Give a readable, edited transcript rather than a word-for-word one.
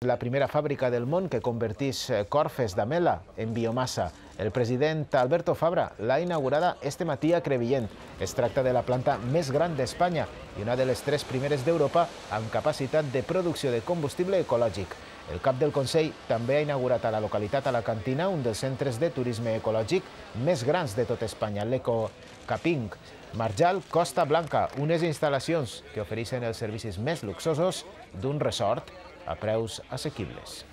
La primera fàbrica del món que converteix corfes d'amela en biomassa. El president Alberto Fabra l'ha inaugurada este matí a Crevillent. Es tracta de la planta més gran d'Espanya i una de les 3 primeres d'Europa amb capacitat de producció de combustible ecològic. El cap del Consell també ha inaugurat a la localitat alacantina un dels centres de turisme ecològic més grans de tot Espanya, l'Eco-Caping. Marjal Costa Blanca, unes instal·lacions que ofereixen els servicis més luxosos d'un resort a preus assequibles.